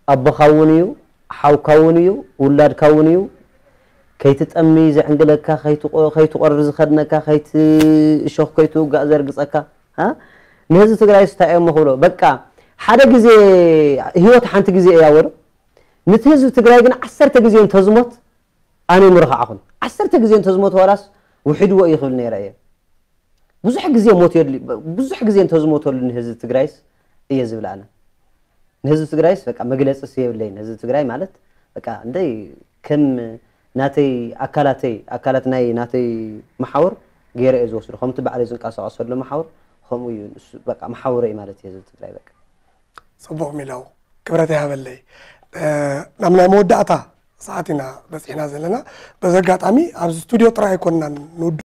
ኣቦኻ እውን እዩ፣ ሓውካ እውን እዩ፣ ውላድካ እውን እዩ። ከይትጠሚ ዘዕንግለካ፣ ከይትቆ- ከይትቆርር ዝኸድነካ፣ ከይት እሾኽ ከይትውጋእ ዘርግጸካ። እ? ንህዝቢ ትግራይ ስታይ እዮም ክብሎ። በቃ ሓደ ግዜ፣ ህይወት ሓንቲ ግዜ እያ ወዶ። ነቲ ህዝቢ ትግራይ ግን ዓሰርተ ግዜ እንተዝሞት ኣነ ምርኽዓኹን። ዓሰርተ ግዜ እንተዝሞት ዋላስ ውሒድዎ እዩ ክብል ነይረ እየ። ብዙሕ ግዜ ሞት የድሊ ብዙሕ ግዜ እንተዝሞተሉ ንህዝቢ ትግራይስ እየ ዝብል ኣነ። ንህዝቢ ትግራይስ በቃ መግለፂ የብለይን። ህዝቢ ትግራይ ማለት በቃ እንደይ ከም ናተይ ኣካላተይ ኣካላት ናይ ናተይ መሓውር ገይረ እየ ዝወስዶ። ከምቲ ባዕለይ ዝንቀሳቐሰሉ መሓውር ከምኡ እዩ። ንሱ በቃ መሓውረ እዩ ማለት እዩ ህዝቢ ትግራይ በቃ። ፅቡቕ ሚለው ክብረት ይሃበለይ። ናብ ናይ መወዳእታ ሰዓት ኢና በፂሕና ዘለና። በዚ ኣጋጣሚ ኣብዚ ስቱድዮ ጥራይ ኣይኮንናን ንውድኦ።